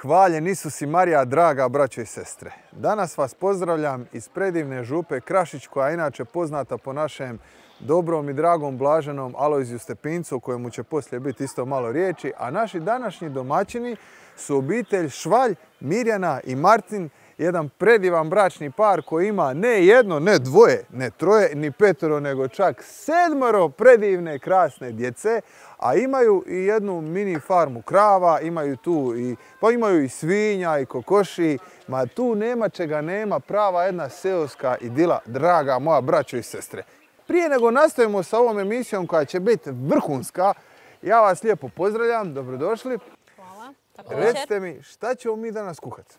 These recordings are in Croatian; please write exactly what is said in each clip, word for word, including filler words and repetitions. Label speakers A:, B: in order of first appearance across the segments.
A: Hvaljen Isus i Marija, draga braćo i sestre. Danas vas pozdravljam iz predivne župe Krašić, koja je inače poznata po našem dobrom i dragom blaženom Alojziju Stepincu, o kojemu će poslije biti isto malo riječi. A naši današnji domaćini su obitelj Švalj, Mirjana i Martin, jedan predivan bračni par koji ima ne jedno, ne dvoje, ne troje, ni petoro, nego čak sedmoro predivne, krasne djece, a imaju i jednu mini farmu krava, imaju tu i, pa imaju i svinja i kokoši, ma tu nema čega nema, prava jedna seoska idila, draga moja braćo i sestre. Prije nego nastavimo sa ovom emisijom koja će biti vrhunska, ja vas lijepo pozdravljam, dobrodošli.
B: Hvala.
A: Recite mi, šta ćemo mi danas kuhati?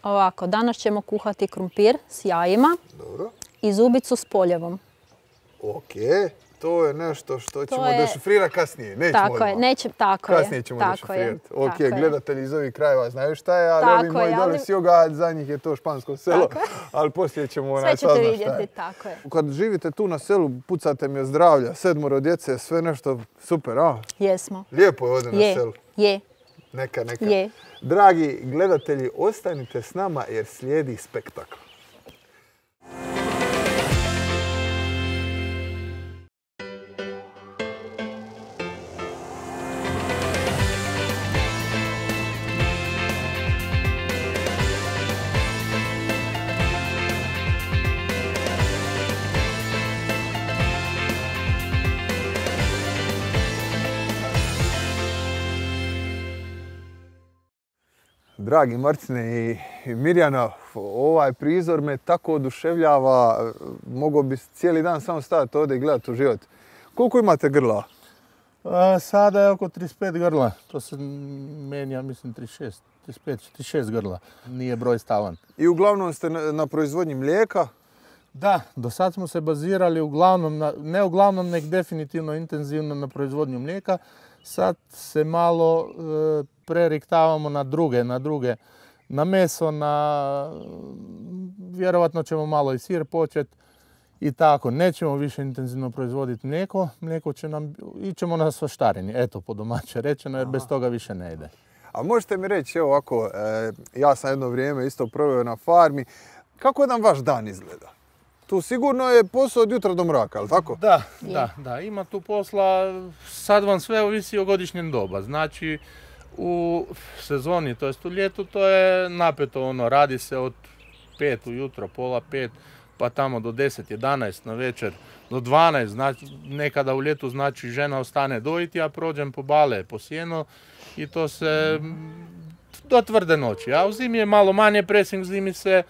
B: Ovako, danas ćemo kuhati krumpir s jajima.
A: Dobro.
B: I zubicu s poljevom.
A: Ok, to je nešto što ćemo
B: je...
A: dešifrirati kasnije. Nećemo
B: tako
A: odmah.
B: je, neće, tako
A: kasnije
B: je.
A: ćemo
B: tako
A: dešifrirati.
B: je,
A: ok,
B: tako
A: gledatelji iz ovih krajeva znaju šta je, ali
B: tako
A: ovi moji
B: je,
A: dole
B: ali...
A: s juga, za njih je to špansko selo, ali poslije ćemo onaj
B: sve ćete
A: saznat
B: vidjeti,
A: šta je.
B: tako je.
A: Kad živite tu na selu, pucate mi od zdravlja, sedmoro djece, sve nešto super, a?
B: Jesmo.
A: Lijepo je ovdje
B: je,
A: na selu.
B: Je,
A: Neka, neka.
B: je.
A: Dragi gledatelji, ostanite s nama jer slijedi spektakl. Dragi Martine i Mirjana, ovaj prizor me tako oduševljava, mogao bi cijeli dan samo stajati ovdje i gledati u život. Koliko imate grla?
C: A, sada je oko trideset pet grla, to se meni, ja mislim, trideset šest, trideset pet, trideset šest grla, nije broj stalan.
A: I uglavnom ste na, na proizvodnji mlijeka?
C: Da, do sad smo se bazirali uglavnom, na, ne uglavnom, nek definitivno intenzivno na proizvodnju mlijeka. Sad se malo e, preriktavamo na druge, na druge, na meso, na vjerovatno ćemo malo i sir početi i tako. Nećemo više intenzivno proizvoditi mlijeko, mlijeko će nam, ićemo na svaštarenje, eto po domaće rečeno, jer bez toga više ne ide.
A: A možete mi reći, evo ovako, e, ja sam jedno vrijeme isto proveo na farmi, kako jedan vaš dan izgleda? Tu sigurno je posao od jutra do mraka, ali tako?
C: Da, da, da, ima tu posla, sad vam sve ovisi o godišnjem doba. Znači, u sezoni, to jest u ljetu, to je napeto, ono, radi se od pet ujutro, pola pet, pa tamo do deset, jedanaest na večer, do dvanaest, znači, nekada u ljetu znači žena ostane dojiti, ja prođem po bale, po sjeno i to se do tvrde noći. A u zimi je malo manje pressing, zimi se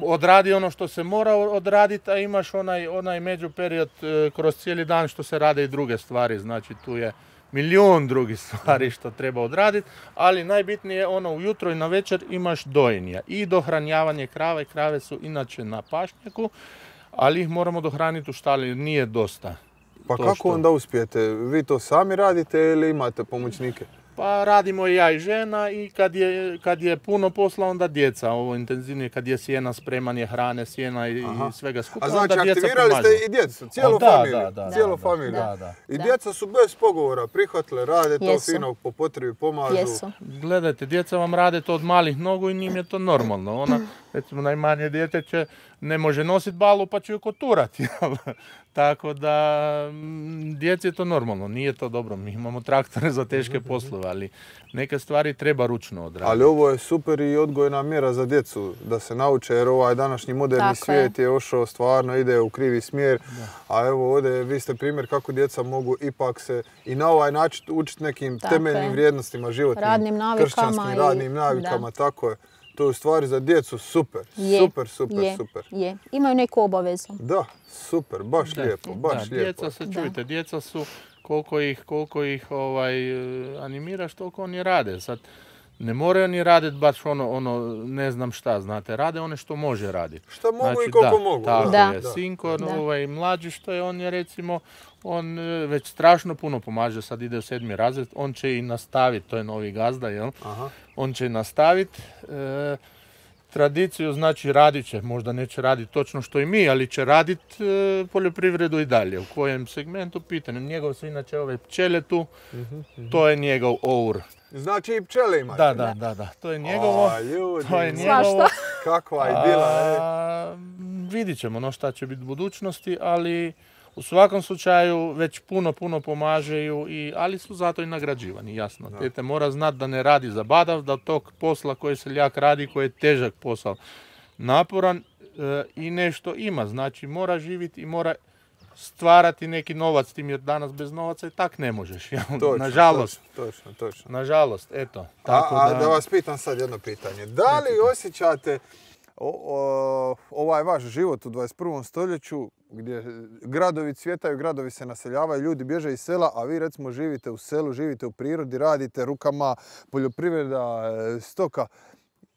C: odradi ono što se mora odraditi, a imaš onaj, onaj međuperiod e, kroz cijeli dan što se rade i druge stvari. Znači tu je milijun drugih stvari što treba odraditi, ali najbitnije je ono ujutro i na večer imaš dojenja i dohranjavanje krave. Krave su inače na pašnjaku, ali ih moramo dohraniti u štali, nije dosta.
A: Pa
C: to
A: kako
C: što...
A: onda uspijete? Vi to sami radite ili imate pomoćnike?
C: Pa radimo i ja i žena i kad je, kad je puno posla onda djeca, ovo intenzivnije, kad je sjena, spremanje hrane, sjena i, i svega skupa.
A: A znači
C: onda djeca
A: aktivirali
C: pomažu.
A: ste i djecu, cijelu
C: O, da,
A: familiju,
C: da, da,
A: cijelu
C: da,
A: familiju.
C: da, da.
A: I
B: Da.
A: djeca su bez pogovora prihvatile, rade to
B: Jesu.
A: fino, po potrebi pomažu.
B: Jesu.
C: Gledajte, djeca vam rade to od malih nogu i njim je to normalno. Ona, recimo, najmanje dijete će, ne može nositi balu pa će ju koturati. Tako da, djeci je to normalno, nije to dobro. Mi imamo traktore za teške poslove, ali neke stvari treba ručno odraditi.
A: Ali ovo je super i odgojna mjera za djecu, da se nauče, jer ovaj današnji moderni
B: Tako
A: svijet je. je ošao, stvarno ide u krivi smjer.
C: Da.
A: A evo ovdje vi ste primjer kako djeca mogu ipak se i na ovaj način učiti nekim
B: Tako
A: temeljnim
B: je.
A: vrijednostima, životnim,
B: Radnim navikama
A: kršćanskim
B: i-
A: radnim navikama,
B: da.
A: tako je. To je u stvari za djecu super,
B: Je,
A: super, super,
B: je,
A: super.
B: je. Imaju neku obavezu.
A: Da, super, baš
C: Da,
A: lijepo, baš
C: da,
A: lijepo.
C: djeca se,
B: Da.
C: čujte, djeca su, koliko ih, koliko ih ovaj, e, animiraš, toliko oni rade. Sad, ne moraju oni raditi baš ono, ono, ne znam šta, znate, rade one što može raditi.
A: Što mogu
C: Znači,
A: i koliko
C: da,
A: mogu.
C: Tako
B: Da.
C: je,
A: Da.
C: Sinko,
B: Da.
C: ovaj mlađi što je, on je recimo, on e, već strašno puno pomaže, sad ide u sedmi razred, on će i nastaviti, to je novi gazda, jel?
A: Aha.
C: On će i nastaviti. E, tradiciju, znači radit će, možda neće raditi točno što i mi, ali će raditi e, poljoprivredu i dalje. U kojem segmentu pitanje. Njegov su inače ove pčele tu, to je njegov our.
A: Znači i pčele imate?
C: Da, da, da, da. To je njegovo.
A: A, ljudi,
C: To je
B: Svašta.
C: njegovo.
A: kakva idila, e.
C: A, vidit ćemo no šta će biti u budućnosti, ali u svakom slučaju već puno, puno pomažeju, i, ali su zato i nagrađivani, jasno.
A: Da.
C: Tete mora znati da ne radi za badav, da tog posla koji seljak radi, koji je težak posao, naporan e, i nešto ima. Znači mora živjeti i mora stvarati neki novac tim, jer danas bez novaca i tak ne možeš. Jel?
A: Točno,
C: Nažalost.
A: Točno, točno.
C: Nažalost, eto.
A: A,
C: Tako
A: a
C: da...
A: da vas pitam sad jedno pitanje. Da li osjećate o- o- ovaj vaš život u dvadeset prvom stoljeću gdje gradovi cvjetaju, gradovi se naseljavaju, ljudi bježe iz sela, a vi recimo živite u selu, živite u prirodi, radite rukama, poljoprivreda, e, stoka.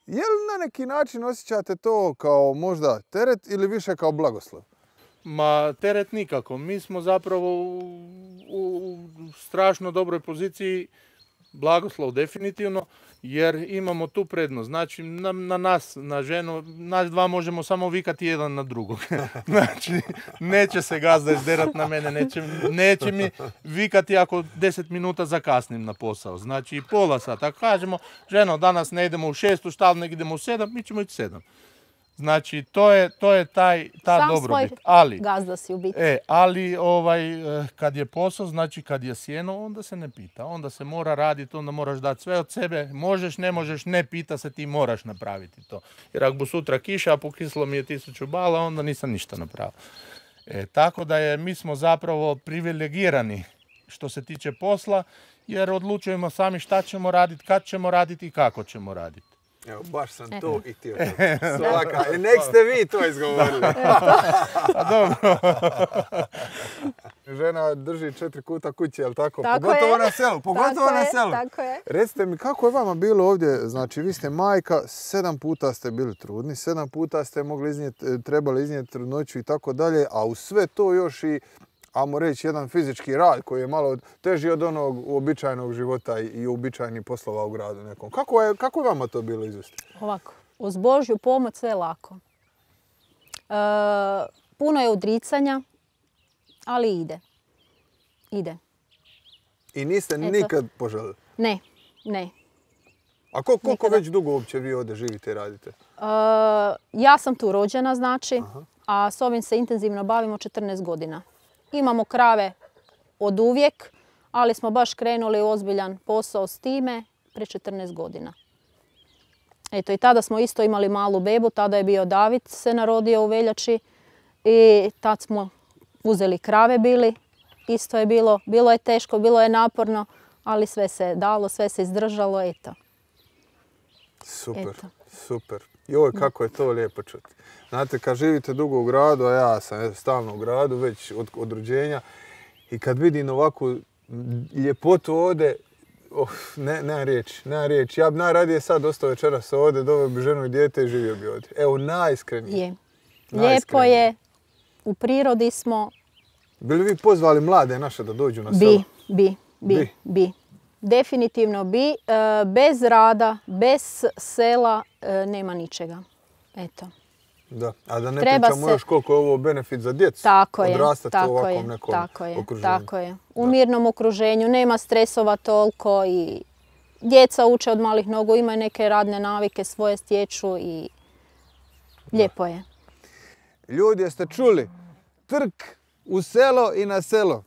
A: Je li na neki način osjećate to kao možda teret ili više kao blagoslov?
C: Ma, teret nikako. Mi smo zapravo u, u, u strašno dobroj poziciji, blagoslov definitivno, jer imamo tu prednost. Znači, na, na nas, na ženu, nas dva možemo samo vikati jedan na drugog. Znači, neće se gazda izderat na mene, neće, neće mi vikati ako deset minuta zakasnim na posao. Znači, pola sata. Ako kažemo, ženo, danas ne idemo u šest u štal, nego idemo u sedam, mi ćemo ići sedam. Znači, to je, to je taj, ta
B: Sam
C: dobrobit.
B: svoj
C: Ali,
B: gazda si u biti.
C: E, ali ovaj, eh, kad je posao, znači kad je sjeno, onda se ne pita. Onda se mora raditi, onda moraš dati sve od sebe. Možeš, ne možeš, ne pita se, ti moraš napraviti to. Jer ako bu sutra kiša, a pokislo mi je tisuću bala, onda nisam ništa napravio. E, tako da je, mi smo zapravo privilegirani što se tiče posla, jer odlučujemo sami šta ćemo raditi, kad ćemo raditi i kako ćemo raditi.
A: Evo, baš sam to i htio. Svaka, i nek ste vi to izgovorili.
C: A dobro.
A: Žena drži četiri kuta kuće, jel tako?
B: Tako
A: Pogotovo
B: je.
A: na selu, pogotovo
B: Tako
A: na
B: je,
A: selu.
B: tako je.
A: Recite mi, kako je vama bilo ovdje? Znači, vi ste majka, sedam puta ste bili trudni, sedam puta ste mogli iznijeti, trebali iznijeti trudnoću i tako dalje, a uz sve to još i, ajmo reći, jedan fizički rad koji je malo teži od onog uobičajenog života i, i uobičajenih poslova u gradu nekom. Kako je, kako je vama to bilo izvesti?
B: Ovako, uz Božju pomoć sve je lako. E, puno je odricanja, ali ide. Ide.
A: I niste
B: Eto.
A: nikad poželili?
B: Ne, ne.
A: A ko- koliko
B: Nikada.
A: već dugo uopće vi ovdje živite i radite?
B: E, ja sam tu rođena, znači,
A: Aha.
B: a s ovim se intenzivno bavimo četrnaest godina. Imamo krave od uvijek, ali smo baš krenuli u ozbiljan posao s time prije četrnaest godina. Eto, i tada smo isto imali malu bebu, tada je bio David, se narodio u veljači i tad smo uzeli krave bili. Isto je bilo, bilo je teško, bilo je naporno, ali sve se je dalo, sve se izdržalo, eto.
A: Super,
B: Eto.
A: super. Joj, kako je to lijepo čuti. Znate, kad živite dugo u gradu, a ja sam stalno u gradu već od, od rođenja, i kad vidim ovakvu ljepotu ovdje, oh, ne, nema riječi, nema riječi. Ja bi najradije sad ostao večeras ovdje, doveo bi ženu i dijete i živio bi ovdje. Evo, najiskrenije.
B: Je. Lijepo
A: Najiskrenije.
B: je, u prirodi smo,
A: Bi li vi pozvali mlade naše da dođu na
B: bi,
A: selo?
B: bi, bi,
A: Bi.
B: bi. Definitivno bi. E, bez rada, bez sela e, nema ničega. Eto.
A: Da, a da ne
B: Treba
A: pričamo
B: se-
A: još koliko je ovo benefit za djecu.
B: Tako je,
A: Odrastati u
B: tako
A: ovakvom
B: je,
A: nekom
B: tako je,
A: okruženju.
B: tako je. U mirnom okruženju, nema stresova toliko i djeca uče od malih nogu, imaju neke radne navike, svoje stječu i lijepo je.
A: Ljudi, jeste čuli? Trk u selo i na selo.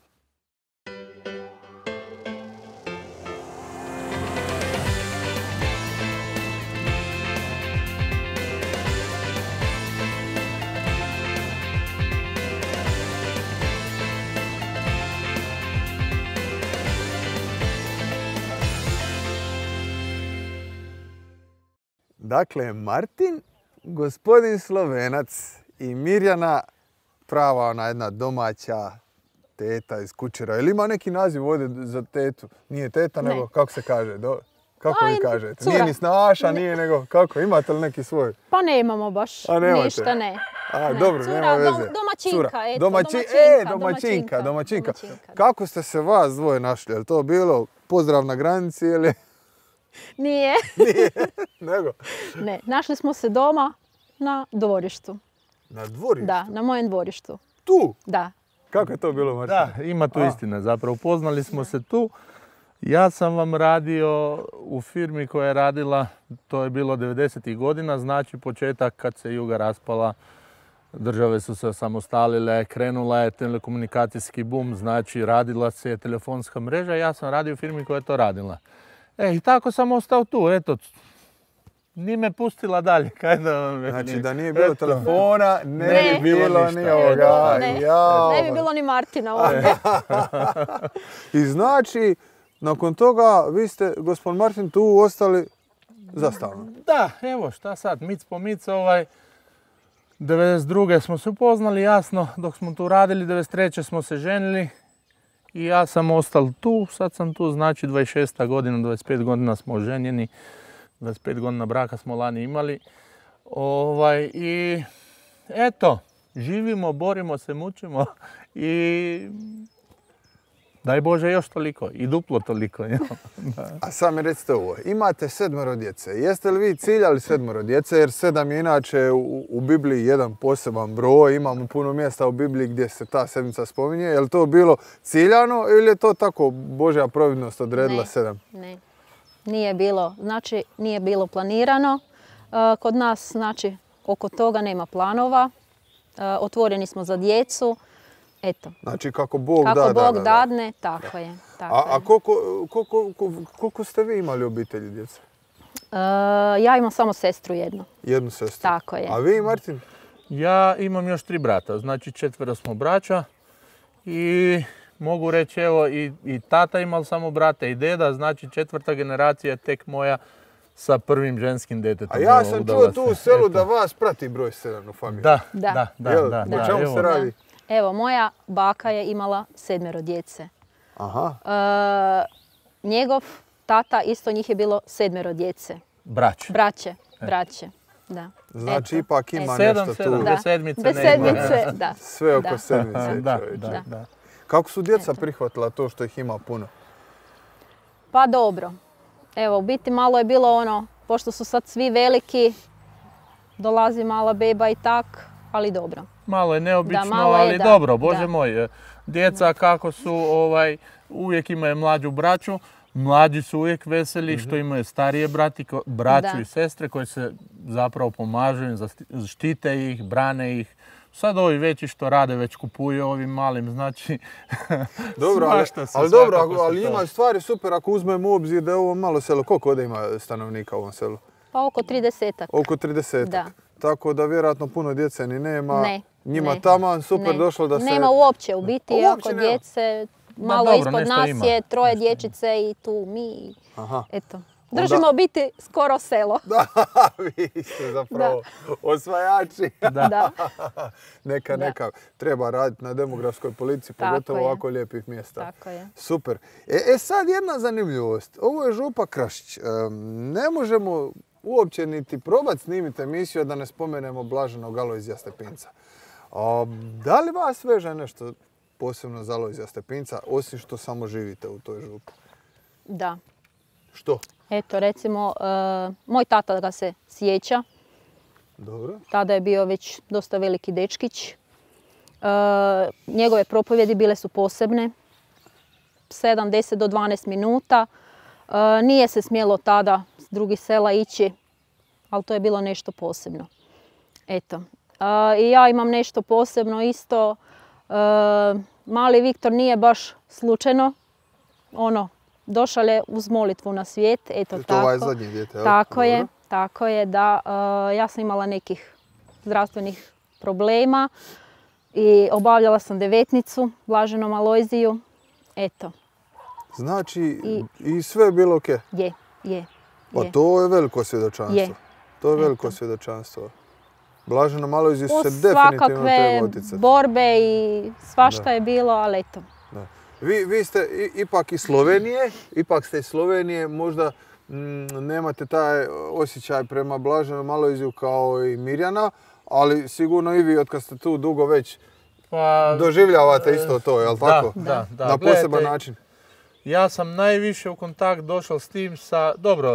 A: Dakle, Martin, gospodin Slovenac i Mirjana, prava ona jedna domaća teta iz Kučera. Ili ima neki naziv ovdje za tetu? Nije teta,
B: Ne.
A: nego kako se kaže? Do, kako
B: Aj,
A: vi kažete?
B: cura.
A: Nije ni snaša, nije nego kako? Imate li neki svoj?
B: Pa nemamo baš
A: A nemate?
B: ništa, ne.
A: A,
B: Ne.
A: dobro,
B: Cura,
A: nema
B: dom-
A: veze.
B: domaćinka,
A: Cura.
B: eto,
A: Domaći-
B: domaćinka,
A: E, domaćinka,
B: domaćinka,
A: domaćinka.
B: domaćinka.
A: Kako ste se vas dvoje našli? Je li to bilo pozdrav na granici ili
B: Nije.
A: nego?
B: Ne, našli smo se doma na dvorištu.
A: Na dvorištu?
B: Da, na mojem dvorištu.
A: Tu?
B: Da.
A: Kako je to bilo, Martin?
C: Da, ima tu
A: A.
C: istine. Zapravo, upoznali smo se tu, Ja sam vam radio u firmi koja je radila, to je bilo devedesetih godina, znači početak kad se Juga raspala, države su se osamostalile, krenula je telekomunikacijski bum, znači radila se je telefonska mreža, ja sam radio u firmi koja je to radila. E, i tako sam ostao tu, eto, nije me pustila dalje, kaj da vam velim.
A: Znači da nije bilo
C: Eto.
A: telefona, ne,
B: Ne.
A: bi bilo ni
C: ništa.
A: ovoga.
B: Ne,
A: Jao.
B: ne bi bilo ni Martina ovdje.
A: I znači, nakon toga vi ste, gospodin Martin, tu ostali zastavno.
C: Da, evo šta sad, mic po mic, ovaj, devedeset druge smo se upoznali, jasno, dok smo tu radili, devedeset treće smo se ženili i ja sam ostao tu, sad sam tu, znači dvadeset šesta godina, dvadeset pet godina smo oženjeni, dvadeset pet godina braka smo lani imali. Ovaj, i eto, živimo, borimo se, mučimo i daj Bože još toliko i duplo toliko. jel?
A: A sad mi recite ovo, imate sedmero djece. Jeste li vi ciljali sedmero djece? Jer sedam je inače u, u Bibliji jedan poseban broj. Imamo puno mjesta u Bibliji gdje se ta sedmica spominje. Je li to bilo ciljano ili je to tako Božja providnost odredila
B: Ne.
A: sedam?
B: Ne, nije bilo, znači nije bilo planirano. E, Kod nas, znači, oko toga nema planova. E, Otvoreni smo za djecu. Eto,
A: Znači kako Bog
B: kako
A: da, da,
B: Bog
A: da, da.
B: dadne, tako je. Tako
A: A, a
B: je.
A: koliko, koliko, koliko, koliko ste vi imali obitelji djece?
B: E, ja imam samo sestru jednu.
A: Jednu sestru.
B: Tako je.
A: A vi, Martin?
C: Ja imam još tri brata, znači četvero smo braća i mogu reći evo i, i tata imao samo brata i deda, znači četvrta generacija je tek moja sa prvim ženskim djetetom.
A: A ja
C: Evo,
A: sam
C: udala
A: čuo tu
C: se.
A: u selu
C: Eto.
A: da vas prati broj sedam u familiji.
C: Da,
B: Da.
C: da, da,
A: Jel,
C: da.
A: o
C: da,
A: čemu
C: evo.
A: se radi?
B: Evo, moja baka je imala sedmero djece.
A: Aha.
B: E, njegov tata, isto njih je bilo sedmero djece.
C: Brać.
B: Braće, braće, da.
A: Znači
B: Eto,
A: ipak ima
B: eto.
C: Sedam,
A: nešto
C: sedam,
A: tu.
B: Da.
C: bez sedmice
B: Bez
C: ne ima.
B: sedmice, da.
A: Sve oko
B: Da.
A: sedmice,
C: Da,
A: čovječe.
C: da,
B: Da.
C: da.
A: Kako su djeca
B: Eto.
A: prihvatila to što ih ima puno?
B: Pa dobro. Evo, u biti malo je bilo ono, pošto su sad svi veliki, dolazi mala beba i tak, ali dobro.
C: Malo je neobično,
B: Da, malo je,
C: ali
B: da,
C: dobro, Bože
B: da.
C: moj. Djeca kako su, ovaj, uvijek imaju mlađu braću, mlađi su uvijek veseli što imaju starije brati, ko- braću
B: Da.
C: i sestre koji se zapravo pomažu im, zasti- štite ih, brane ih. Sad ovi veći što rade već kupuju ovim malim, znači
A: Dobro, ali,
C: svašta se
A: ali dobro,
C: svakako
A: ako- ali
C: se to-
A: ima stvari super ako uzmemo u obzir da je ovo malo selo. Koliko ovdje ima stanovnika u ovom selu?
B: Pa oko tridesetak.
A: Oko trideset.
B: Da.
A: Tako da vjerojatno puno djece ni nema.
B: Ne,
A: Njima
B: ne.
A: taman super
B: Ne.
A: došlo da se...
B: Nema uopće, u biti
A: A uopće
B: ako
A: nema.
B: djece,
C: Ma
B: malo
C: dobro,
B: ispod
C: nešto
B: nas
C: ima,
B: je troje
C: nešto ima.
B: dječice i tu mi.
A: Aha.
B: Eto. Držimo u biti skoro selo.
A: Da, vi ste zapravo osvajači.
B: Da.
A: Neka,
B: Da.
A: neka. Treba raditi na demografskoj politici,
B: Tako
A: pogotovo
B: je.
A: ovako lijepih mjesta.
B: Tako je.
A: Super. E, e sad jedna zanimljivost. Ovo je Župa Krašić. Em, ne možemo uopće niti probati snimiti emisiju a da ne spomenemo Blaženog Alojzija Stepinca. A, da li vas veže nešto posebno za Alojzija Stepinca, osim što samo živite u toj župi?
B: Da.
A: Što?
B: Eto, recimo, e, moj tata ga se sjeća.
A: Dobro.
B: Tada je bio već dosta veliki dečkić. E, njegove propovjedi bile su posebne. sedam, deset do dvanaest minuta. E, nije se smjelo tada s drugih sela ići, ali to je bilo nešto posebno. Eto. E, I ja imam nešto posebno isto. E, mali Viktor nije baš slučajno ono, došao je uz molitvu na svijet. Eto,
A: Je to
B: tako.
A: ovaj zadnji dijete, jel?
B: Tako je,
A: Dobro.
B: tako je da e, ja sam imala nekih zdravstvenih problema i obavljala sam devetnicu Blaženom Alojziju. Eto,
A: Znači,
B: I-
A: i sve je bilo ok.
B: je, je,
A: Pa
B: je.
A: to je veliko svjedočanstvo.
B: Je.
A: To je veliko
B: Eto.
A: svjedočanstvo. Blaženom Alojziju se
B: Uz
A: definitivno
B: svakakve
A: treba utjecati.
B: borbe i svašta
A: Da.
B: je bilo, ali eto.
A: Da. Vi, vi ste i- ipak iz Slovenije, ipak ste iz Slovenije, možda mm, nemate taj osjećaj prema Blaženom Alojziju kao i Mirjana, ali sigurno i vi od kad ste tu dugo već
C: Pa,
A: doživljavate isto to, jel
C: da,
A: tako?
C: da, da.
A: Na poseban
C: Gledajte,
A: način.
C: Ja sam najviše u kontakt došao s tim sa, dobro, e,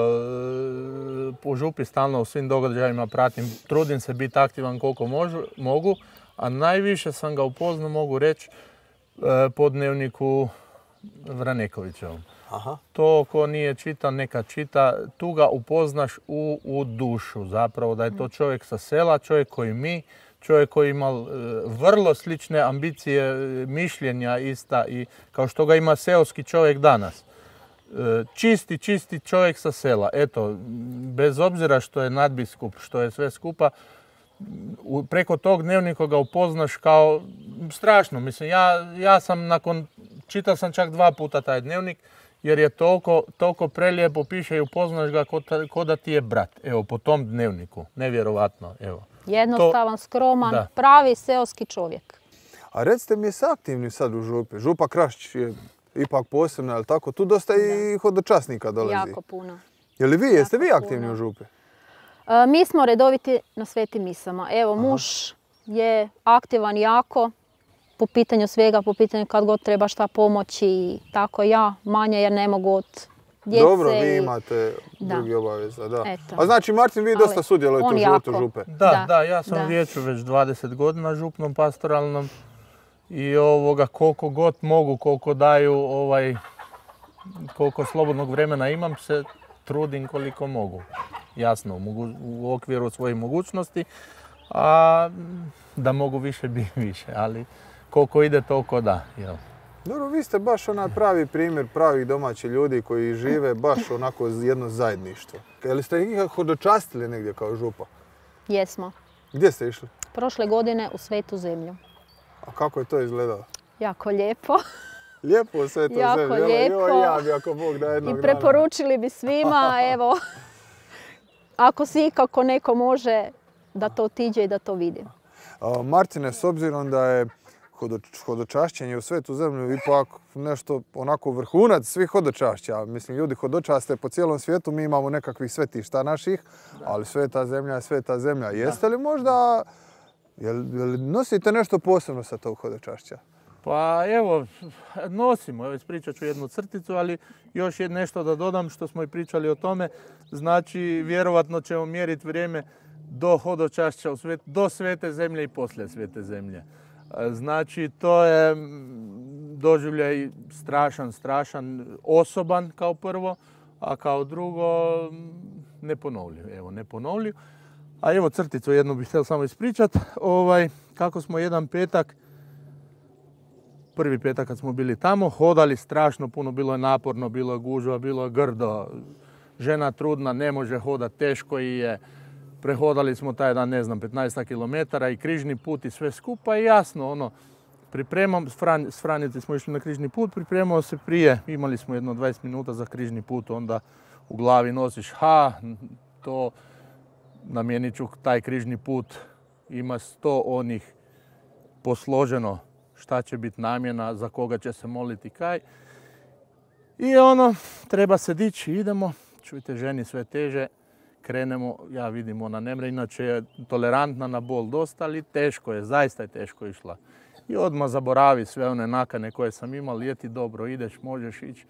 C: u župi stalno u svim događajima pratim, trudim se biti aktivan koliko možu, mogu, a najviše sam ga upoznao, mogu reći, e, po dnevniku Vranekovićevom.
A: Aha.
C: To ko nije čita, neka čita. Tu ga upoznaš u, u dušu zapravo, da je to čovjek sa sela, čovjek koji mi, čovjek koji ima e, vrlo slične ambicije, e, mišljenja ista i kao što ga ima seoski čovjek danas. E, čisti, čisti čovjek sa sela. Eto, bez obzira što je nadbiskup, što je sve skupa, u, preko tog dnevnika ga upoznaš kao strašno. Mislim, ja, ja sam nakon, čitao sam čak dva puta taj dnevnik, jer je toliko, toliko prelijepo piše i upoznaš ga ko, ko da ti je brat. Evo, po tom dnevniku. Nevjerovatno, evo.
B: Jednostavan,
C: To,
B: skroman,
C: da.
B: pravi seoski čovjek.
A: A recite mi, jeste aktivni sad u župi? Župa Krašić je ipak posebna, je li tako? Tu dosta i hodočasnika dolazi.
B: Jako puno.
A: Je li vi, jeste
B: Jako
A: vi aktivni
B: puno.
A: u župi?
B: E, mi smo redoviti na svetim misama. Evo, Aha. muž je aktivan jako po pitanju svega, po pitanju kad god treba šta pomoći i tako ja, manje jer ne mogu od djece.
A: Dobro, vi
B: i...
A: imate
B: Da.
A: drugi obaveza, da.
B: Eto.
A: A znači, Martin, vi dosta
B: Ali
A: sudjelujete
B: on
A: u životu
B: jako.
A: župe.
C: Da,
B: Da,
C: da, ja sam
B: da.
C: u vijeću već dvadeset godina župnom pastoralnom i ovoga koliko god mogu, koliko daju, ovaj, koliko slobodnog vremena imam, se trudim koliko mogu. Jasno, u, mogu, u okviru svojih mogućnosti, a da mogu više bi više, ali koliko ide toliko da. Jel?
A: Dobro, vi ste baš onaj pravi primjer pravih domaćih ljudi koji žive baš onako jedno zajedništvo. Je li ste ih hodočastili negdje kao župa?
B: Jesmo.
A: Gdje ste išli?
B: Prošle godine u Svetu zemlju.
A: A kako je to izgledalo?
B: Jako lijepo.
A: Lijepo u Svetu
B: Jako
A: zemlju.
B: lijepo.
A: Joj, ja bi ako Bog da jednog
B: I preporučili bi svima, evo, ako si ikako neko može da to otiđe i da to vidi.
A: A, Martine, s obzirom da je hodoč- hodočašćenje u Svetu zemlju ipak nešto onako vrhunac svih hodočašća. Mislim, ljudi hodočaste po cijelom svijetu, mi imamo nekakvih svetišta naših, ali Sveta zemlja je Sveta zemlja. Jeste li možda, jel, jel nosite nešto posebno sa tog hodočašća?
C: Pa evo, nosimo, evo ispričat ću jednu crticu, ali još je nešto da dodam što smo i pričali o tome. Znači, vjerovatno ćemo mjeriti vrijeme do hodočašća u svet, do Svete zemlje i poslije Svete zemlje. Znači, to je doživljaj strašan, strašan, osoban kao prvo, a kao drugo neponovljiv. Evo, neponovljiv. A evo crticu jednu bih htio samo ispričat. Ovaj, kako smo jedan petak, prvi petak kad smo bili tamo, hodali strašno puno, bilo je naporno, bilo je gužva, bilo je grdo. Žena trudna ne može hodati, teško i je. Prehodali smo taj dan, ne znam, petnaest kilometara i križni put i sve skupa i jasno, ono, pripremam, s, Fran, s Franjicom smo išli na križni put, pripremao se prije, imali smo jedno dvadeset minuta za križni put, onda u glavi nosiš, ha, to namijenit ću taj križni put, ima sto onih posloženo, šta će biti namjena, za koga će se moliti kaj. I ono, treba se dići, idemo, čujte, ženi sve teže, krenemo, ja vidim ona ne mre, inače je tolerantna na bol dosta, ali teško je, zaista je teško išla. I odmah zaboravi sve one nakane koje sam imao, je ti dobro, ideš, možeš ići.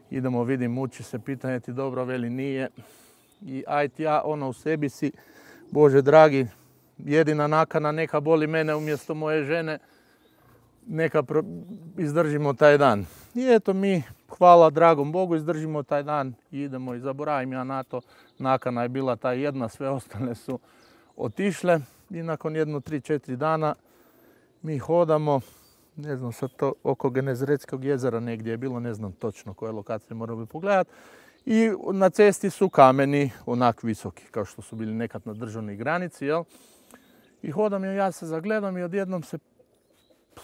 C: Idemo, vidim, muči se, pitanje je ti dobro, veli nije. I aj ti ja, ono u sebi si, Bože dragi, jedina nakana neka boli mene umjesto moje žene, neka pro... izdržimo taj dan. I eto mi, hvala dragom Bogu, izdržimo taj dan i idemo i zaboravim ja na to. Nakana je bila ta jedna, sve ostale su otišle i nakon jedno tri, četiri dana mi hodamo, ne znam sad to, oko Genezretskog jezera negdje je bilo, ne znam točno koje lokacije moramo pogledati. I na cesti su kameni onak visoki, kao što su bili nekad na državnoj granici, jel? I hodam i ja se zagledam i odjednom se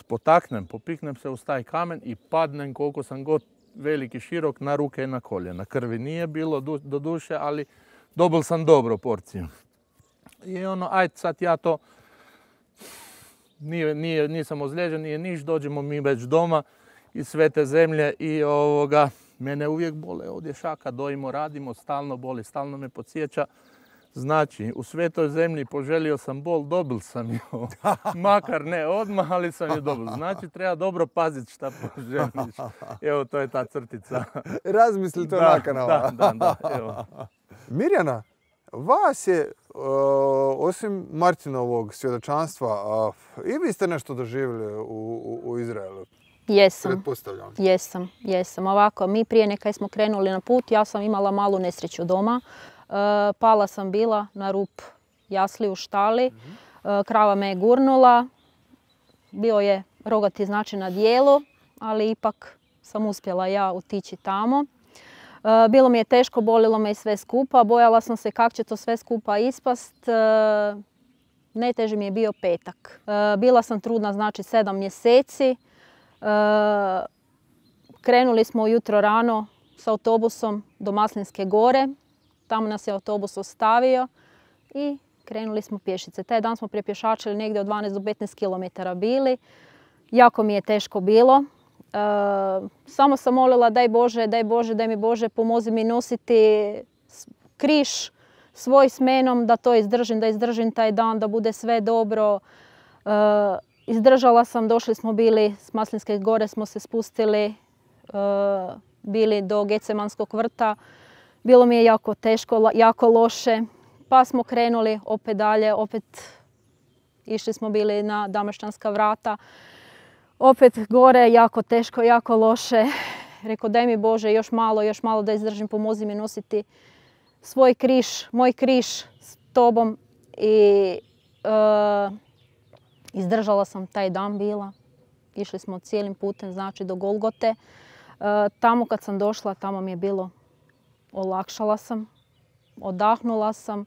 C: potaknem, popiknem se uz taj kamen i padnem koliko sam god veliki, širok, na ruke i na koljena. Krvi nije bilo do duše, ali dobil sam dobro porciju. I ono, ajde sad ja to, nije, nije, nisam ozlijeđen, nije niš, dođemo mi već doma iz Svete zemlje i ovoga, mene uvijek bole odješaka, dojimo, radimo, stalno boli, stalno me podsjeća. Znači, u Svetoj zemlji poželio sam bol, dobil sam ju. Makar ne odmah, ali sam ju dobil. Znači, treba dobro paziti šta poželiš. Evo, to je ta crtica.
A: Razmislite o
C: da,
A: nakanama.
C: Da, da, da, evo.
A: Mirjana, vas je, uh, osim Martinovog svjedočanstva, uh, i vi ste nešto doživjeli u, u, u Izraelu.
B: Jesam.
A: Pretpostavljam.
B: Jesam, jesam. Ovako, mi prije nekaj smo krenuli na put, ja sam imala malu nesreću doma. E, pala sam bila na rub jasli u štali. E, krava me je gurnula. Bio je rogati znači na dijelu, ali ipak sam uspjela ja otići tamo. E, bilo mi je teško, bolilo me i sve skupa. Bojala sam se kako će to sve skupa ispast. E, najteži mi je bio petak. E, bila sam trudna znači sedam mjeseci. E, krenuli smo ujutro rano s autobusom do Maslinske gore. Tamo nas je autobus ostavio i krenuli smo pješice. Taj dan smo prepješačili negdje od dvanaest do petnaest kilometara bili. Jako mi je teško bilo. E, samo sam molila daj Bože, daj Bože, daj mi Bože, pomozi mi nositi križ svoj s menom, da to izdržim, da izdržim taj dan, da bude sve dobro. E, izdržala sam, došli smo bili s Maslinske gore, smo se spustili, e, bili do Gecemanskog vrta. Bilo mi je jako teško, jako loše, pa smo krenuli opet dalje, opet išli smo bili na Damašćanska vrata. Opet gore, jako teško, jako loše. Rekao daj mi Bože još malo, još malo da izdržim, pomozi mi nositi svoj križ, moj križ s tobom. I e, izdržala sam taj dan bila. Išli smo cijelim putem, znači do Golgote. E, tamo kad sam došla, tamo mi je bilo, olakšala sam, odahnula sam.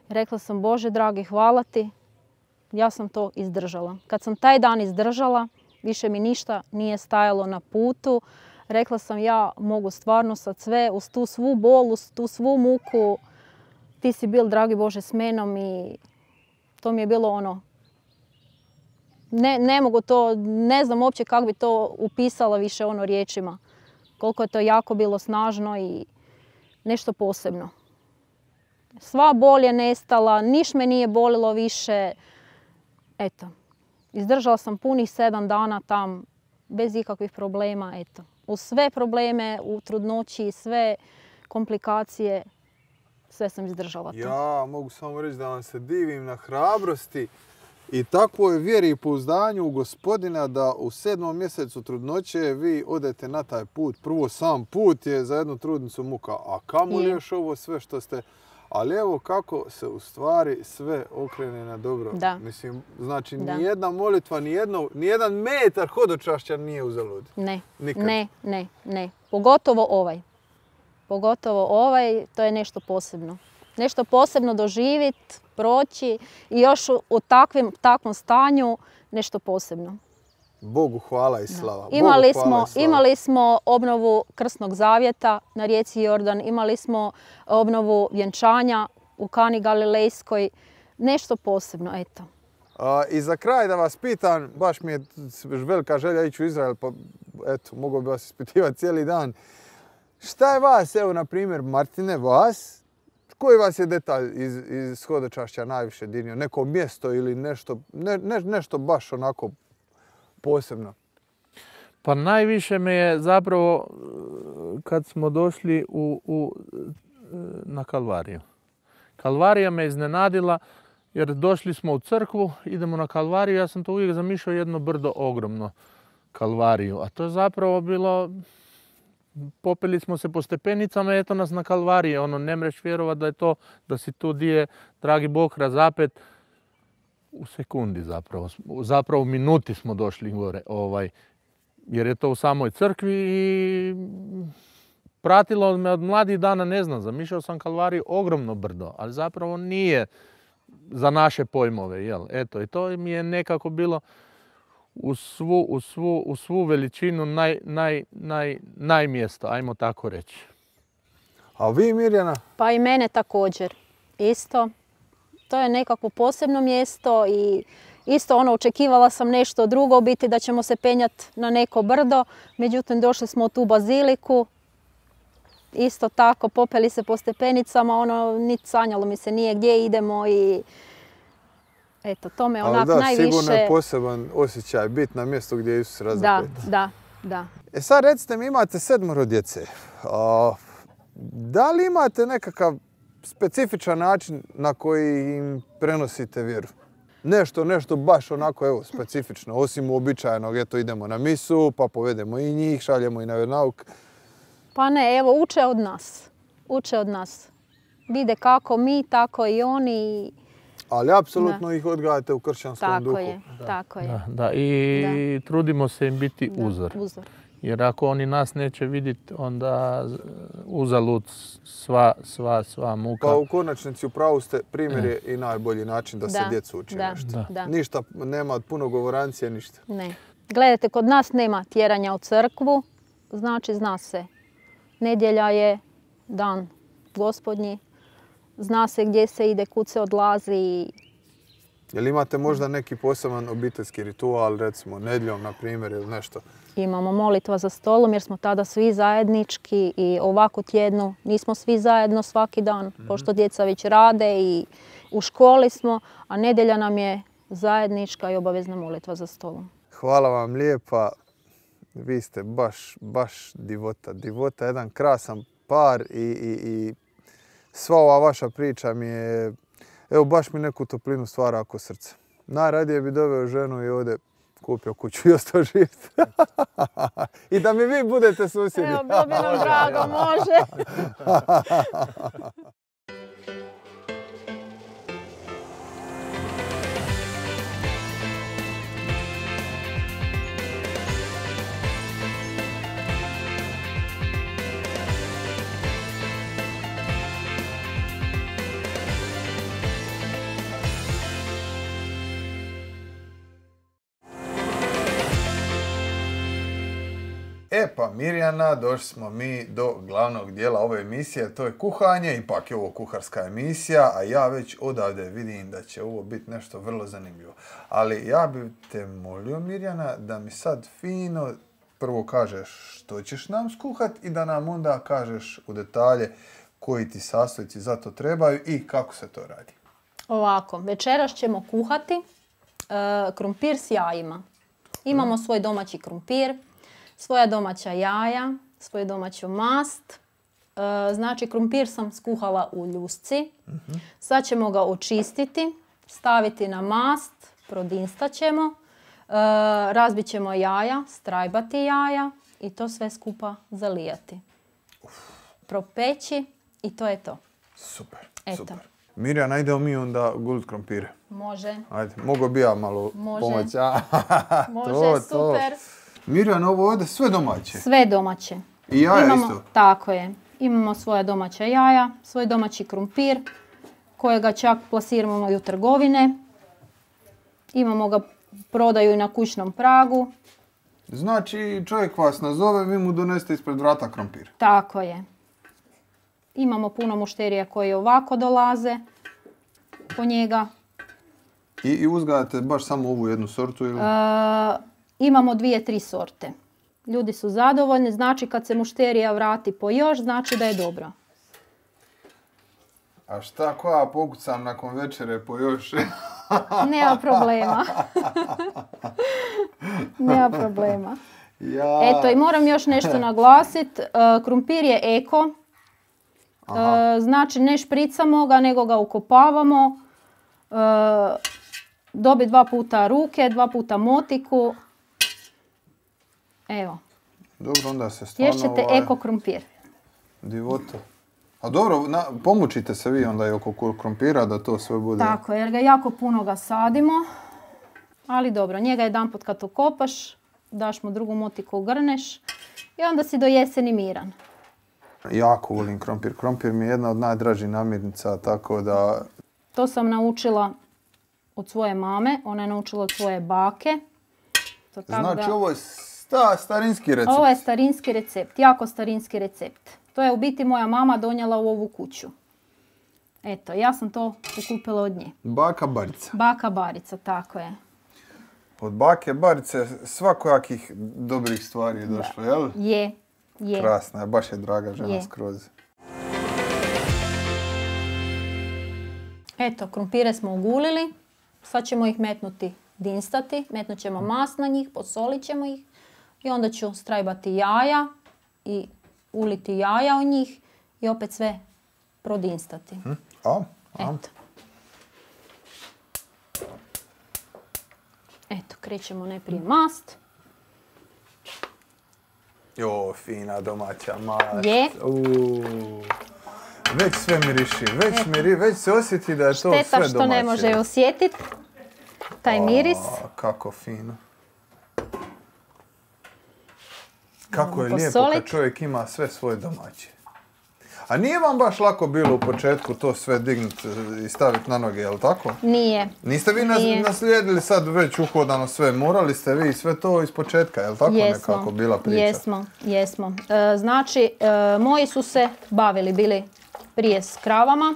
B: Rekla sam Bože dragi, hvala ti. Ja sam to izdržala. Kad sam taj dan izdržala, više mi ništa nije stajalo na putu. Rekla sam ja mogu stvarno sad sve, uz tu svu bol, uz tu svu muku, ti si bil, dragi Bože, s menom i to mi je bilo ono, ne, ne mogu to, ne znam uopće kako bi to upisala više ono riječima. Koliko je to jako bilo snažno i nešto posebno. Sva bol je nestala, niš me nije bolilo više. Eto, izdržala sam punih sedam dana tam bez ikakvih problema, eto. Uz sve probleme, u trudnoći, sve komplikacije, sve sam izdržala to.
A: Ja mogu samo reći da vam se divim na hrabrosti i takvoj vjeri i pouzdanju u Gospodina da u sedmom mjesecu trudnoće vi odete na taj put. Prvo sam put je za jednu trudnicu muka, a kamoli još ovo sve što ste... Ali evo kako se u stvari sve okrene na dobro.
B: Da.
A: Mislim, znači
B: Da.
A: nijedna molitva, nijedno, nijedan metar hodočašća nije uzalud.
B: Ne,
A: Nikad.
B: ne, ne, ne. Pogotovo ovaj. Pogotovo ovaj, to je nešto posebno. Nešto posebno doživjeti, proći i još u, u takvim, takvom stanju nešto posebno.
A: Bogu hvala i slava. Bogu
B: Imali
A: hvala
B: smo,
A: i slava.
B: imali smo obnovu Krsnog zavjeta na rijeci Jordan, imali smo obnovu vjenčanja u Kani Galilejskoj. Nešto posebno, eto.
A: A, I za kraj da vas pitam, baš mi je velika želja ići u Izrael, pa eto, mogu bi vas ispitivati cijeli dan. Šta je vas, evo na primjer Martine, vas, koji vas je detalj iz, iz hodočašća najviše dinio? Neko mjesto ili nešto, ne, ne, nešto baš onako posebno?
C: Pa najviše me je zapravo kad smo došli u, u, na Kalvariju. Kalvarija me iznenadila jer došli smo u crkvu, idemo na Kalvariju, ja sam to uvijek zamišljao jedno brdo ogromno Kalvariju, a to je zapravo bilo, popeli smo se po stepenicama i eto nas na Kalvariji, ono ne mreš vjerovat da je to, da si tu di je dragi Bog razapet u sekundi zapravo, zapravo u minuti smo došli gore, ovaj, jer je to u samoj crkvi i pratilo me od mladih dana, ne znam, zamišljao sam Kalvariju ogromno brdo, ali zapravo nije za naše pojmove, jel? Eto, i to mi je nekako bilo u svu, u svu, u svu veličinu naj, naj, naj, najmjesto, ajmo tako reći.
A: A vi, Mirjana?
B: Pa i mene također, isto. To je nekako posebno mjesto i isto ono, očekivala sam nešto drugo, biti da ćemo se penjati na neko brdo, međutim došli smo u tu baziliku, isto tako popeli se po stepenicama, ono, niti sanjalo mi se nije gdje idemo i eto, to me onak
A: da,
B: najviše...
A: sigurno je poseban osjećaj biti na mjestu gdje je Isus razapet.
B: Da, da, da.
A: E sad recite mi, imate sedmoro djece. A, da li imate nekakav specifičan način na koji im prenosite vjeru? Nešto, nešto baš onako, evo, specifično, osim uobičajenog, eto, idemo na misu, pa povedemo i njih, šaljemo i na vjernauk.
B: Pa ne, evo, uče od nas. Uče od nas. Vide kako mi, tako i oni.
A: Ali apsolutno ih odgajate u kršćanskom
B: tako
A: duhu.
B: Je,
C: Da.
B: tako je.
C: Da, da. I da. trudimo se im biti
B: Da,
C: uzor.
B: uzor.
C: Jer ako oni nas neće vidjeti, onda uzalud sva, sva, sva muka.
A: Pa u konačnici u pravu ste, primjer je i najbolji način da, da. se djecu uči
B: da.
A: nešto.
B: Da. Da.
A: Ništa, nema puno govorancije, ništa.
B: Ne. Gledajte, kod nas nema tjeranja u crkvu, znači zna se. Nedjelja je dan Gospodnji, zna se gdje se ide, kud se odlazi.
A: Jel imate možda neki poseban obiteljski ritual, recimo nedjeljom, na primjer, ili nešto?
B: Imamo molitva za stolom jer smo tada svi zajednički i ovako tjednu nismo svi zajedno svaki dan, mm-hmm. pošto djeca već rade i u školi smo, a nedjelja nam je zajednička i obavezna molitva za stolom.
A: Hvala vam lijepa. Vi ste baš, baš divota. Divota, jedan krasan par i, i, i sva ova vaša priča mi je, evo, baš mi neku toplinu stvara oko srca. Najradije bi doveo ženu i ovdje kupio kuću i ostao živjeti. I da mi vi budete susjedi.
B: Evo, bilo bi nam drago, može.
A: E pa Mirjana, došli smo mi do glavnog dijela ove emisije, to je kuhanje, ipak je ovo kuharska emisija, a ja već odavde vidim da će ovo biti nešto vrlo zanimljivo. Ali ja bih te molio, Mirjana, da mi sad fino prvo kažeš što ćeš nam skuhat i da nam onda kažeš u detalje koji ti sastojci za to trebaju i kako se to radi.
B: Ovako, večeras ćemo kuhati uh, krumpir s jajima. Imamo svoj domaći krumpir, svoja domaća jaja, svoju domaću mast. E, znači, krumpir sam skuhala u ljusci. Uh-huh. Sad ćemo ga očistiti, staviti na mast, prodinstat ćemo, e, razbit ćemo jaja, strajbati jaja i to sve skupa zalijati. Uf. Propeći i to je to.
A: Super,
B: Eto.
A: super. Mirjana, idemo mi onda gulit krompire.
B: Može.
A: Ajde, mogu bi ja malo pomoći.
B: Može,
A: to,
B: super.
A: To. Mirjana, ovo ovdje sve domaće?
B: Sve domaće.
A: I jaja
B: Imamo,
A: isto?
B: Tako je. Imamo svoja domaća jaja, svoj domaći krumpir, kojega čak plasiramo i u trgovine. Imamo ga prodaju i na kućnom pragu.
A: Znači, čovjek vas nazove, vi mu donesete ispred vrata krompir?
B: Tako je. Imamo puno mušterija koji ovako dolaze po njega.
A: I, i uzgajate baš samo ovu jednu sortu? Ili?
B: E, imamo dvije, tri sorte. Ljudi su zadovoljni, znači kad se mušterija vrati po još, znači da je dobra.
A: A šta ako ja pokucam nakon večere po još?
B: Nema problema. Nema problema.
A: Ja.
B: Eto, i moram još nešto naglasiti. Krumpir je eko. Aha. Znači ne špricamo ga, nego ga ukopavamo. Dobi dva puta ruke, dva puta motiku. Evo.
A: Dobro, onda se stvarno...
B: Tješćete ovaj... eko krumpir.
A: Divota. A dobro, na, pomučite se vi onda i oko krumpira da to sve bude...
B: Tako, jer ga jako puno ga sadimo. Ali dobro, njega jedanput kad ukopaš, daš mu drugu motiku, ugrneš i onda si do jeseni miran.
A: Jako volim krompir. Krompir mi je jedna od najdražih namirnica, tako da...
B: To sam naučila od svoje mame, ona je naučila od svoje bake. To
A: znači
B: da...
A: ovo je sta, starinski recept?
B: Ovo je starinski recept, jako starinski recept. To je u biti moja mama donijela u ovu kuću. Eto, ja sam to pokupila od nje.
A: Baka Barica.
B: Baka Barica, tako je.
A: Od bake Barice svakojakih dobrih stvari je došlo, jel?
B: Je, je.
A: Krasna je, baš je draga žena je. Skroz.
B: Eto, krumpire smo ugulili. Sad ćemo ih metnuti, dinstati. Metnut ćemo mast na njih, posolit ćemo ih. I onda ću strajbati jaja i uliti jaja u njih i opet sve prodinstati.
A: Hm? A, a.
B: Eto. Eto, krećemo najprije mast.
A: Jo, fina domaća mast.
B: Je.
A: Uuu. Već sve miriši, već, miri, već se osjeti da je to sve domaće.
B: Šteta što ne može osjetiti taj miris.
A: A, kako fino. Kako je
B: Moramo
A: lijepo
B: posolit.
A: kad čovjek ima sve svoje domaće. A nije vam baš lako bilo u početku to sve dignuti i staviti na noge, jel tako?
B: Nije.
A: Niste vi nas,
B: Nije.
A: naslijedili sad već uhodano sve, morali ste vi sve to iz početka, jel tako
B: Jesmo,
A: nekako bila priča?
B: Jesmo, jesmo. E, znači, e, moji su se bavili bili prije s kravama.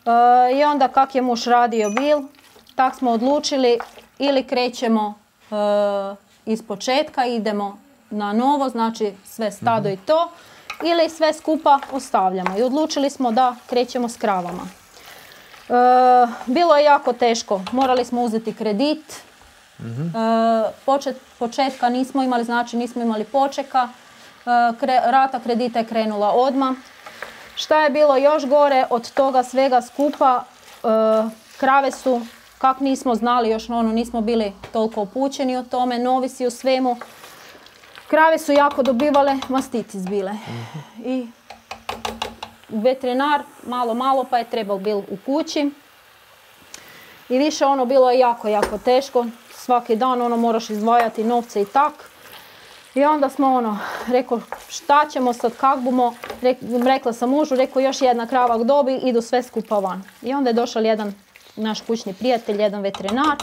B: E, I onda kak je muž radio bil, tak smo odlučili ili krećemo e, iz početka, idemo na novo, znači sve stado i to, ili sve skupa ostavljamo. I odlučili smo da krećemo s kravama. E, bilo je jako teško, morali smo uzeti kredit. E, počet, početka nismo imali, znači nismo imali počeka. E, kre, rata kredita je krenula odmah. Šta je bilo još gore od toga svega skupa, e, krave su, kak nismo znali, još ono nismo bili toliko upućeni o tome, novi si u svemu. Krave su jako dobivale mastitis bile. I veterinar malo, malo pa je trebao bil u kući. I više ono bilo je jako, jako teško. Svaki dan ono moraš izdvajati novce i tak. I onda smo ono, rekao šta ćemo sad, kak bumo, rekla sam mužu, rekao još jedna krava dobi, idu sve skupa van. I onda je došao jedan naš kućni prijatelj, jedan veterinar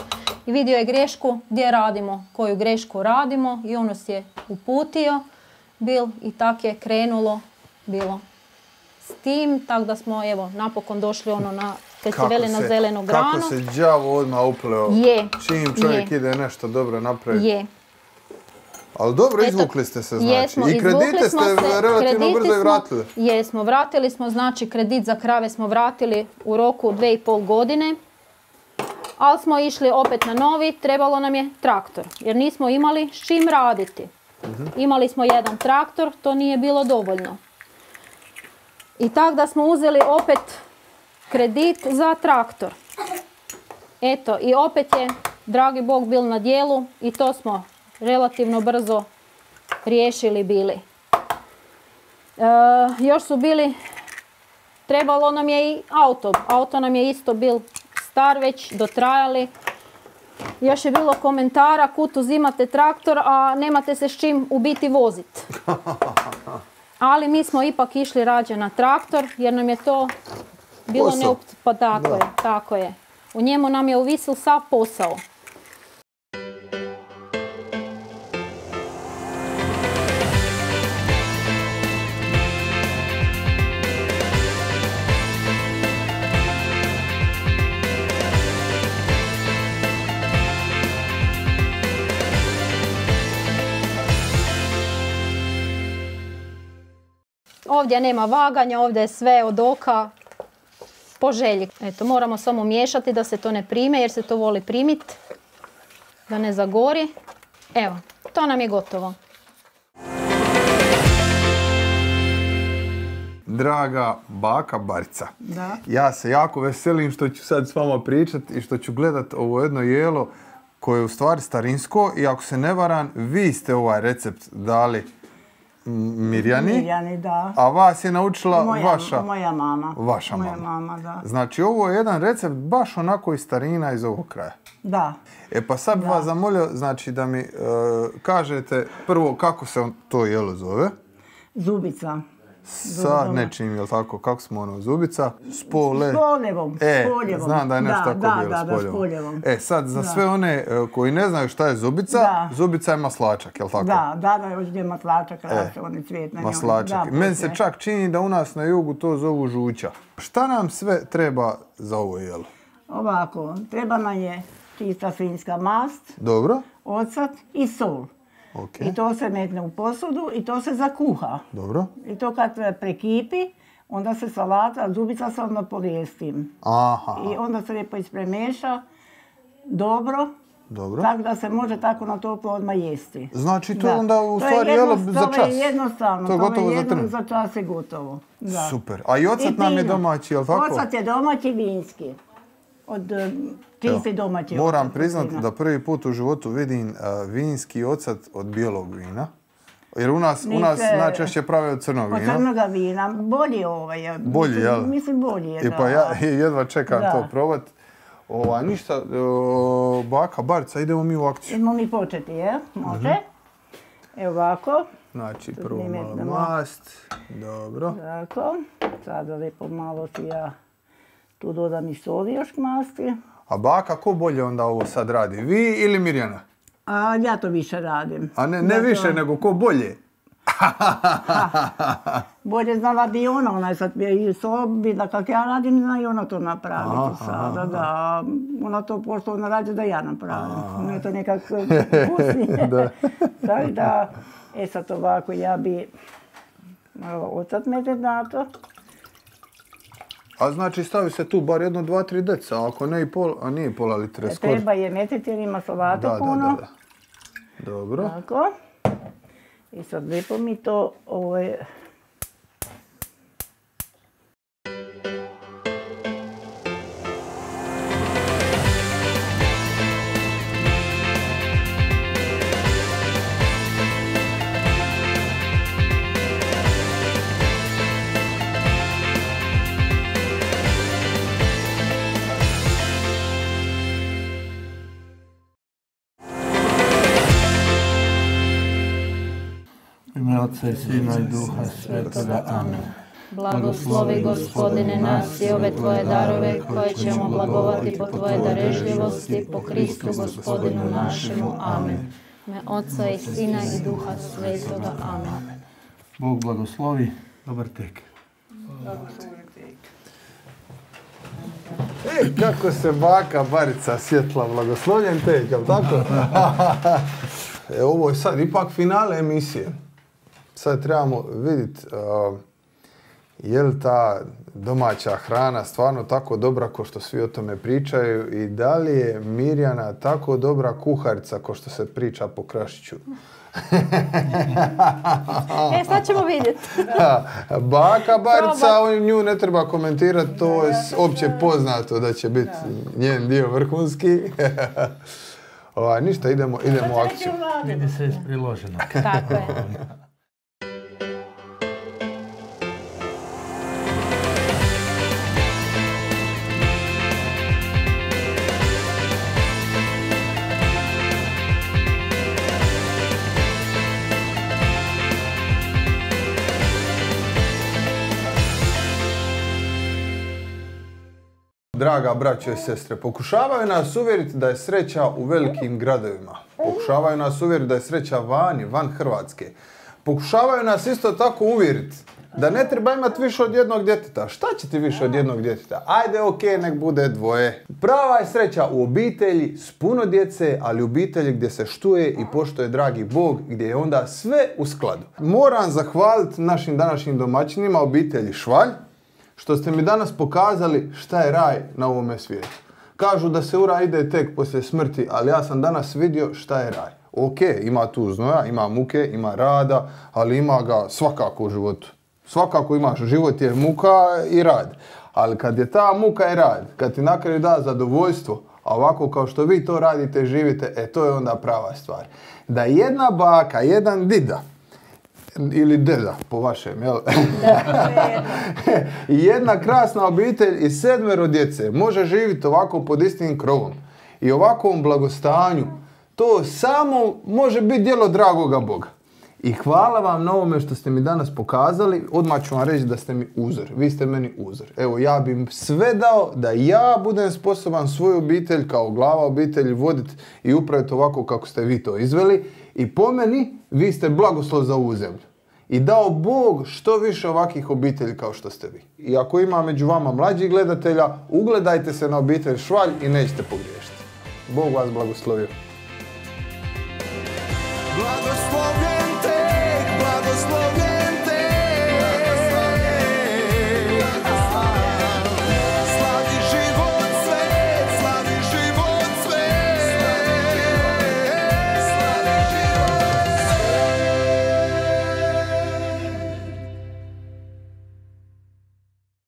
B: i vidio je grešku gdje radimo, koju grešku radimo i on nas je uputio bil i tak je krenulo bilo s tim, tako da smo evo napokon došli ono na festivale na zelenu granu.
A: Kako se đavo odmah upleo,
B: je,
A: čim čovjek
B: je.
A: ide nešto dobro napraviti.
B: Je.
A: Ali dobro, izvukli ste se, znači.
B: Jesmo,
A: I kredite ste
B: se,
A: relativno brzo
B: smo,
A: i vratili.
B: Jesmo, vratili smo, znači kredit za krave smo vratili u roku dve i pol godine. Ali smo išli opet na novi, trebalo nam je traktor, jer nismo imali s čim raditi. Uh-huh. Imali smo jedan traktor, to nije bilo dovoljno. I tako da smo uzeli opet kredit za traktor. Eto, i opet je, dragi Bog, bil na dijelu i to smo relativno brzo riješili bili. E, još su bili, trebalo nam je i auto. Auto nam je isto bil star već, dotrajali. Još je bilo komentara, kud uzimate traktor, a nemate se s čim u biti voziti. Ali mi smo ipak išli rađe na traktor, jer nam je to bilo neup... Pa tako da. je, tako je. U njemu nam je uvisil sav posao. Ovdje nema vaganja, ovdje je sve od oka po želji. Eto, moramo samo miješati da se to ne prime jer se to voli primiti, da ne zagori. Evo, to nam je gotovo.
A: Draga baka Barica,
D: da.
A: Ja se jako veselim što ću sad s vama pričati i što ću gledat ovo jedno jelo koje je u stvari starinsko i ako se ne varam, vi ste ovaj recept dali Mirjani,
D: Mirjani, da.
A: A vas je naučila
D: moja,
A: vaša...
D: Moja mama.
A: Vaša
D: moja
A: mama.
D: mama, da.
A: Znači, ovo je jedan recept baš onako iz starina iz ovog kraja.
D: Da.
A: E pa sad bih vas zamolio, znači, da mi uh, kažete prvo kako se to jelo zove.
D: Zubica.
A: Sa nečim, jel tako? Kako smo ono, zubica? S pole...
D: S poljevom.
A: E,
D: s poljevom.
A: znam da je nešto
D: da,
A: tako
D: da,
A: bilo
D: da,
A: s poljevom.
D: Da, s poljevom.
A: E, sad, za
D: da.
A: sve one uh, koji ne znaju šta je zubica, da. Zubica je maslačak, jel tako?
D: Da, da, da, još gdje maslačak raste, e, oni cvijet na njoj.
A: Maslačak. Da, meni se čak čini da u nas na jugu to zovu žuća. Šta nam sve treba za ovo jelo?
D: Ovako, treba nam je čista svinjska mast,
A: dobro,
D: ocat i sol.
A: Okay.
D: I to se metne u posudu i to se zakuha.
A: Dobro.
D: I to kad prekipi, onda se salata, zubica se odmah polijesti.
A: Aha.
D: I onda se lijepo ispremeša dobro,
A: dobro,
D: tako da se može tako na toplo odmah jesti.
A: Znači to je onda u stvari jelo za čas?
D: To je jednostavno,
A: to je gotovo
D: to je jedno,
A: za,
D: za čas je gotovo. Da.
A: Super. A i ocat I nam je domaći, jel tako?
D: Ocat je domaći vinski. od čiste domaće.
A: Moram priznati da prvi put u životu vidim uh, vinski ocat od bijelog vina. Jer u nas, u nas najčešće prave od crnog vina.
D: Od crnoga vina. Bolji ovaj je.
A: Bolji, jel?
D: Mislim bolji je,
A: I
D: da.
A: pa ja jedva čekam
D: Da.
A: to probat. Ova, ništa, o, baka Barica, idemo mi u akciju.
D: Idemo mi početi, je? Može. Evo ovako.
A: Znači, prvo
D: mi
A: malo
D: metnemo.
A: mast. Dobro.
D: Tako. Sada lijepo malo ću ja tu dodam i soli još masti.
A: A baka, ko bolje onda ovo sad radi? Vi ili Mirjana?
D: A ja to više radim.
A: A ne, ne
D: Ja to-
A: više, nego ko bolje?
D: Bolje znala bi ona, ona je sad i sol bila kako ja radim, zna i ona to napraviti sada, da. Ona to pošto ona radi da ja napravim. Ona je to nekako pusti. Tako da, e sad ovako ja bi malo ocat metet na to.
A: A znači stavi se tu bar jedno, dva, tri deca, ako ne i pol, a nije pola litre
D: E,
A: skoro.
D: Treba je metiti jer ima salate
A: Da, da,
D: puno.
A: da, da. Dobro.
D: Tako. I sad lijepo mi to ovaj,
C: U ime Otca i Sina i Duha Svetoga. Amen.
B: Blagoslovi Gospodine nas i ove Tvoje darove koje ćemo blagovati po Tvoje darežljivosti, po Kristu Gospodinu našemu. Amen. U ime Otca i Sina i Duha Svetoga. Amen.
C: Bog blagoslovi. Dobar tek.
A: E, kako se baka Barica sjetla, blagoslovljen tek, jel tako? E, ovo je sad ipak finale emisije. Sad trebamo vidjeti uh, je li ta domaća hrana stvarno tako dobra ko što svi o tome pričaju i da li je Mirjana tako dobra kuharica ko što se priča po Krašiću.
B: E, sad ćemo vidjeti.
A: Baka Barica, nju ne treba komentirati, to je opće poznato da će biti njen dio vrhunski. Ova, ništa, idemo, idemo u akciju.
C: Vidi se iz priloženog.
B: Tako je.
A: Draga braćo i sestre, pokušavaju nas uvjeriti da je sreća u velikim gradovima. Pokušavaju nas uvjeriti da je sreća vani, van Hrvatske. Pokušavaju nas isto tako uvjeriti da ne treba imati više od jednog djeteta. Šta će ti više od jednog djeteta? Ajde, ok, nek bude dvoje. Prava je sreća u obitelji s puno djece, ali u obitelji gdje se štuje i poštuje dragi Bog, gdje je onda sve u skladu. Moram zahvaliti našim današnjim domaćinima, obitelji Švalj, što ste mi danas pokazali šta je raj na ovome svijetu. Kažu da se u raj ide tek poslije smrti, ali ja sam danas vidio šta je raj. Ok, ima tu znoja, ima muke, ima rada, ali ima ga svakako u životu. Svakako imaš, život je muka i rad. Ali kad je ta muka i rad, kad ti na kraju da zadovoljstvo, a ovako kao što vi to radite i živite, e to je onda prava stvar. Da jedna baka, jedan dida, ili deda, po vašem, jel? I jedna krasna obitelj i sedmero djece može živjeti ovako pod istim krovom i ovakvom blagostanju. To samo može biti djelo dragoga Boga. I hvala vam na ovome što ste mi danas pokazali. Odmah ću vam reći da ste mi uzor. Vi ste meni uzor. Evo, ja bih sve dao da ja budem sposoban svoju obitelj kao glava obitelji voditi i upraviti ovako kako ste vi to izveli. I po meni, vi ste blagoslov za ovu zemlju. I dao Bog što više ovakvih obitelji kao što ste vi. I ako ima među vama mlađih gledatelja, ugledajte se na obitelj Švalj i nećete pogriješiti. Bog vas blagoslovio.
E: Blagoslovio